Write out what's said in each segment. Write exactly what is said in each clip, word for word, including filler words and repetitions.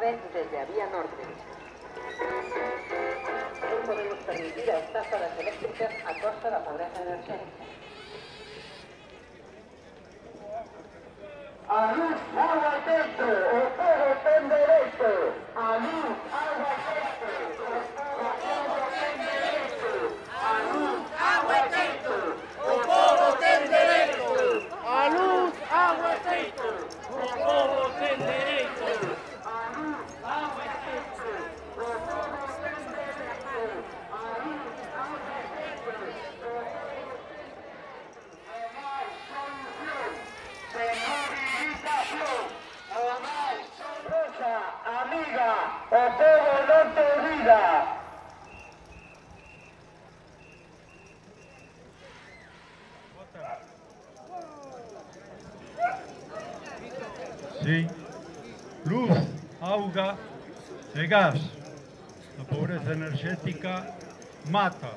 avance desde a vía norte. Non podemos permitir a estafa das eléctricas a costa da pobreza enerxética. A luz, agua e techo, o povo ten dereito. A luz, agua e techo, o povo ten dereito. A luz, agua e techo, o povo ten dereito. A luz, agua e techo, o povo ten dereito. A luz, agua e techo, o povo ten dereito. A luz, agua e techo, o povo ten dereito. Amiga, o povo non te olvida. Sí, luz, auga e gas. A pobreza enerxética mata.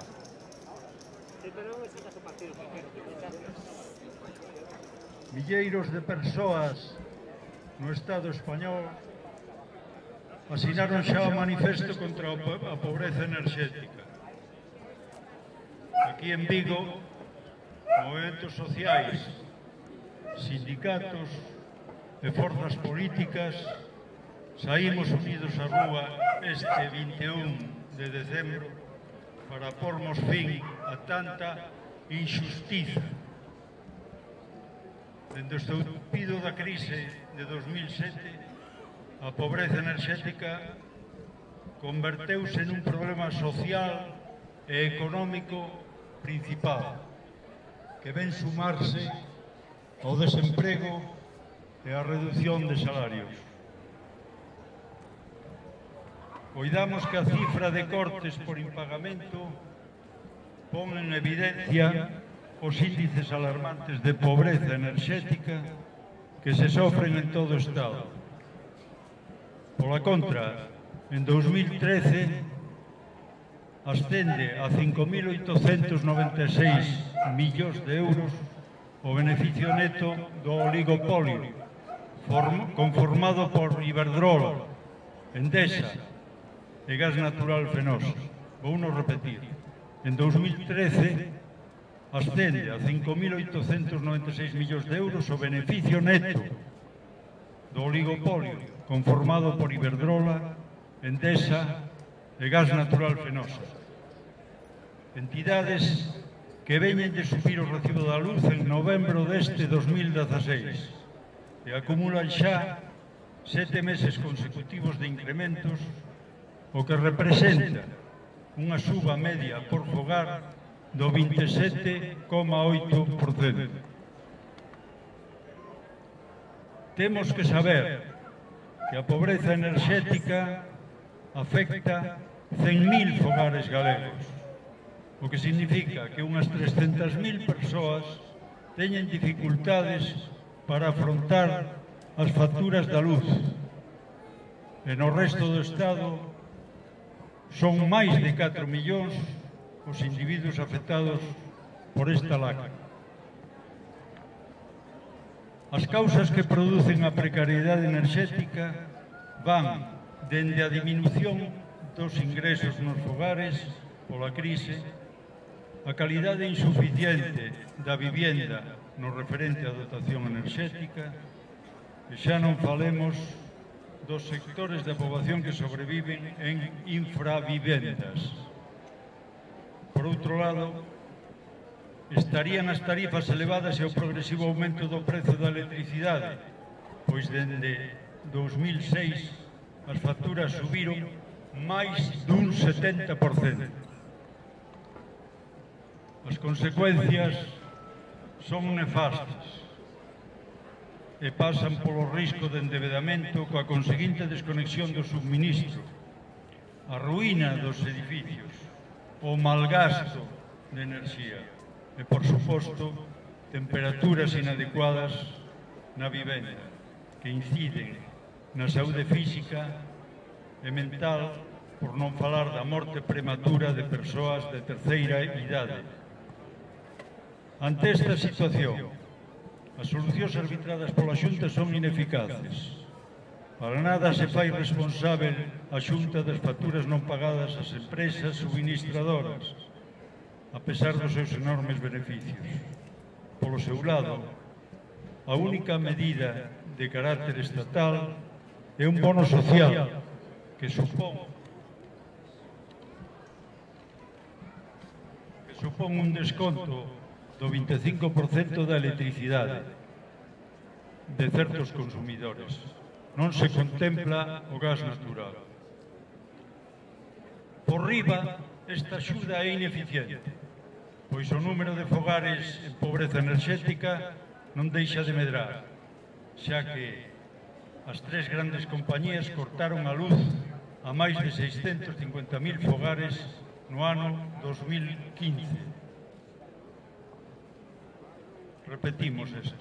Milleiros de persoas no Estado español asinaron xa o manifesto contra a pobreza enerxética. Aquí en Vigo, movementos sociais, sindicatos e forzas políticas saímos unidos á rúa este vinte e un de decembro para pormos fin a tanta injustiza. Dende o estoupido da crise de dos mil sete, a pobreza enerxética converteuse nun problema social e económico principal que ven sumarse ao desemprego e á reducción de salarios. Coidamos que a cifra de cortes por impagamento pon en evidencia os índices alarmantes de pobreza enerxética que se sofren en todo o Estado. Pola contra, en dos mil trece ascende a cinco mil oitocentos noventa e seis millóns de euros o beneficio neto do oligopolio conformado por Iberdrola, Endesa e Gas Natural Fenosa. Vou non repetir. En dos mil trece ascende a cinco mil oitocentos noventa e seis millóns de euros o beneficio neto do oligopolio conformado por Iberdrola, Endesa e Gas Natural Fenosa. Entidades que veñen de subir o recibo da luz en novembro deste dos mil dezaseis e acumulan xa sete meses consecutivos de incrementos, o que representa unha suba media por fogar do vinte e sete coma oito por cento. Temos que saber que a pobreza enerxética afecta cen mil fogares galegos, o que significa que unhas trescentas mil persoas teñen dificultades para afrontar as facturas da luz. E no resto do Estado son máis de catro millóns os individuos afectados por esta lacra. As causas que producen a precariedade enerxética van dende a diminución dos ingresos nos fogares pola crise, a calidade insuficiente da vivienda no referente á dotación enerxética, e xa non falemos dos sectores da poboación que sobreviven en infravivendas. Por outro lado, estarían as tarifas elevadas e o progresivo aumento do prezo da electricidade, pois dende dos mil seis as facturas subiron máis dun setenta por cento. As consecuencias son nefastas e pasan polo risco de endevedamento coa conseguinte desconexión do subministro, a ruína dos edificios, o malgasto de enerxía e, por suposto, temperaturas inadecuadas na vivenda que inciden na saúde física e mental, por non falar da morte prematura de persoas de terceira idade. Ante esta situación, as solucións arbitradas pola Xunta son ineficaces Para nada se fai responsável a Xunta das facturas non pagadas ás empresas suministradoras, a pesar dos seus enormes beneficios. Polo seu lado, a única medida de carácter estatal é un bono social que supón que supón un desconto do vinte e cinco por cento da electricidade de certos consumidores. Non se contempla o gas natural. Por riba, esta axuda é ineficiente, pois o número de fogares en pobreza enerxética non deixa de medrar, xa que as tres grandes compañías cortaron a luz a máis de seiscentos cincuenta mil fogares no ano dos mil quince. Repetimos esas.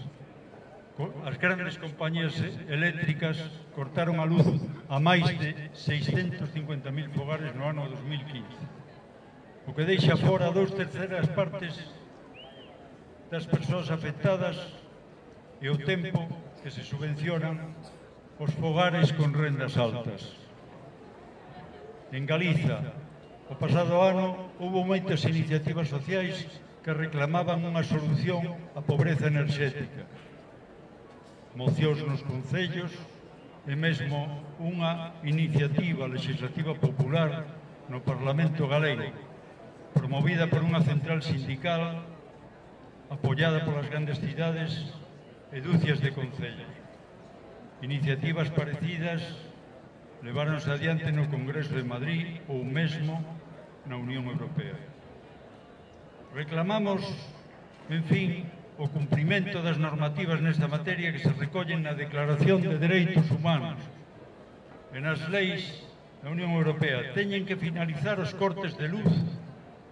As grandes compañías eléctricas cortaron a luz a máis de seiscentos cincuenta mil fogares no ano dos mil quince, o que deixa fora dous terceras partes das persoas afectadas e o tempo que se subvencionan os fogares con rendas altas. En Galiza, o pasado ano, houve moitas iniciativas sociais que reclamaban unha solución á pobreza enerxética, mocións nos concellos e mesmo unha iniciativa legislativa popular no Parlamento galego, promovida por unha central sindical apoiada polas grandes cidades e dúcias de concellos. Iniciativas parecidas leváronse adiante no Congreso de Madrid ou mesmo na Unión Europea. Reclamamos, en fin, o cumprimento das normativas nesta materia que se recollen na Declaración de Dereitos Humanos e nas leis da Unión Europea. Teñen que finalizar os cortes de luz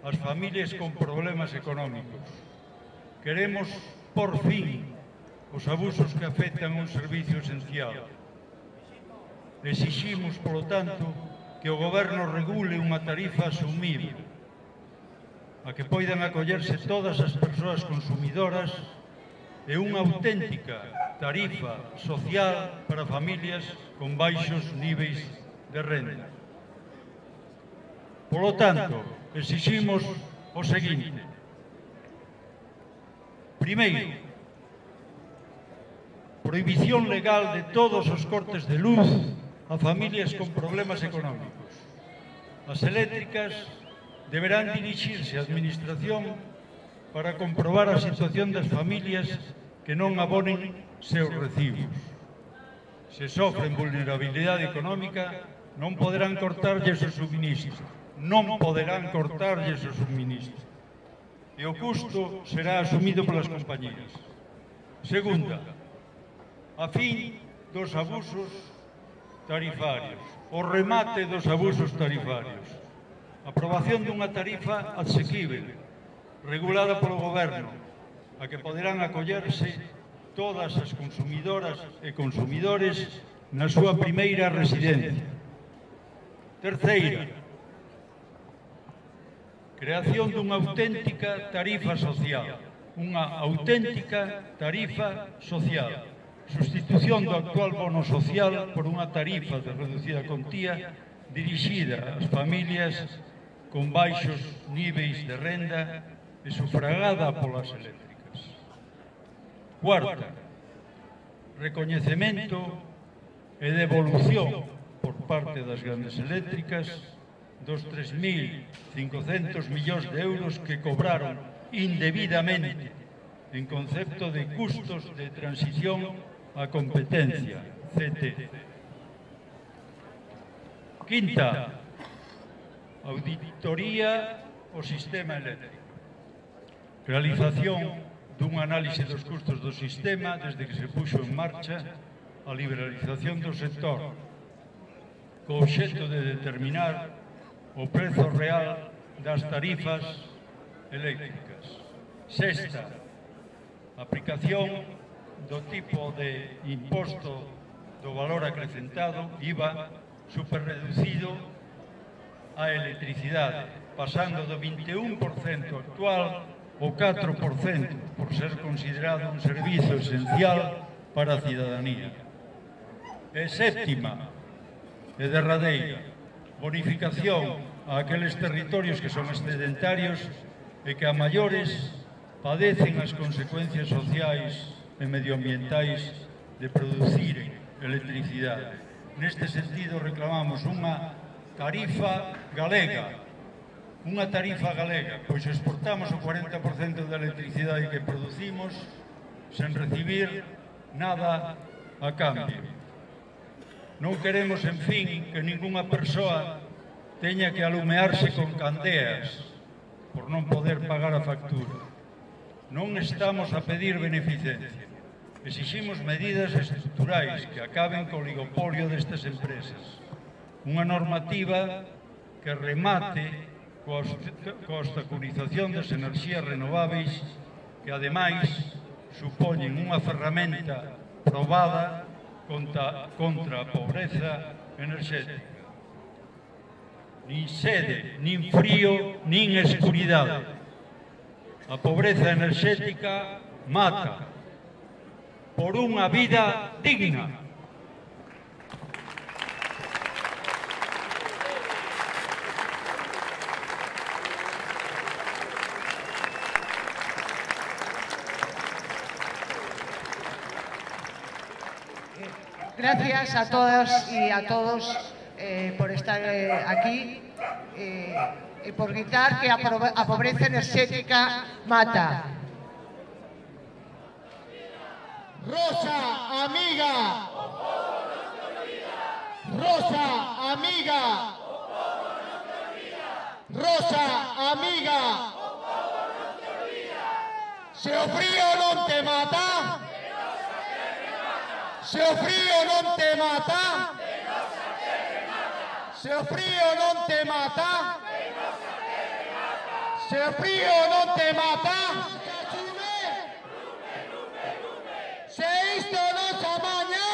ás familias con problemas económicos. Queremos, por fin, os abusos que afectan un servicio esencial. Exiximos, polo tanto, que o Goberno regule unha tarifa asumible, a que poidan acollerse todas as persoas consumidoras e unha auténtica tarifa social para familias con baixos niveis de renda. Polo tanto, exiximos o seguinte. Primeiro, prohibición legal de todos os cortes de luz a familias con problemas económicos. As eléctricas deberán dirixirse á Administración para comprobar a situación das familias que non abonen seus recibos. Se sofren vulnerabilidade económica, non poderán cortarlles o suministro. Non poderán cortarlles o suministro. E o custo será asumido polas compañías. Segunda, a fin dos abusos tarifarios, o remate dos abusos tarifarios. Aprobación dunha tarifa asequible, regulada polo Goberno, a que poderán acollerse todas as consumidoras e consumidores na súa primeira residencia. Terceira, creación dunha auténtica tarifa social, unha auténtica tarifa social, sustitución do actual bono social por unha tarifa de reducida contía dirixida ás familias con baixos niveis de renda e sufragada polas eléctricas. Cuarta, recoñecemento e devolución por parte das grandes eléctricas dos tres mil cincocentos millóns de euros que cobraron indebidamente en concepto de custos de transición á competencia, C T. Quinta, auditoría ao sistema eléctrico. Realización dun análise dos custos do sistema desde que se puxo en marcha a liberalización do sector, co obxecto de determinar o prezo real das tarifas eléctricas. Sexta, aplicación do tipo de imposto do valor acrecentado, I V A, superreducido á electricidade, pasando do vinte e un por cento actual ao catro por cento, por ser considerado un servizo esencial para a cidadanía. E séptima e derradeira, bonificación a aqueles territorios que son excedentarios e que a maiores padecen as consecuencias sociais e medioambientais de producir electricidade. Neste sentido reclamamos unha tarifa galega, unha tarifa galega, pois exportamos o cuarenta por cento da electricidade que producimos sen recibir nada a cambio. Non queremos, en fin, que ningunha persoa teña que alumearse con candeas por non poder pagar a factura. Non estamos a pedir beneficencia. Exiximos medidas estruturais que acaben co oligopolio destas empresas. Unha normativa que remate coa obstaculización das enerxías renováveis que, ademais, supoñen unha ferramenta probada contra, contra a pobreza enerxética. Nin sede, nin frío, nin escuridade. A pobreza enerxética mata por unha vida digna. Gracias a todas y a todos eh, por estar eh, aquí eh, y por gritar que a pobreza enerxética mata. Rosa, amiga. Rosa, amiga. Rosa, amiga. Se o frío non te mata. Se o frío non te mata. Se o frío non te mata. Se o frío non te mata. Se isto non se amaña.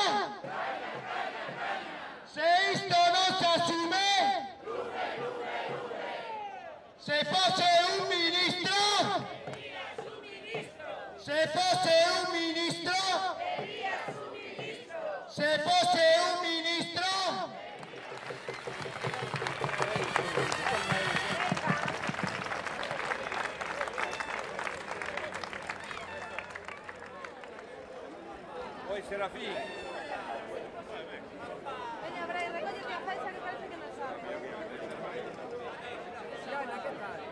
Se isto non se asume. Se fose un ministro. Se fose un ministro. Se fose un ministro. Oi, Serafín. Veña, Brai, recolle a faixa que parece que non sabe. Fiona, que tal?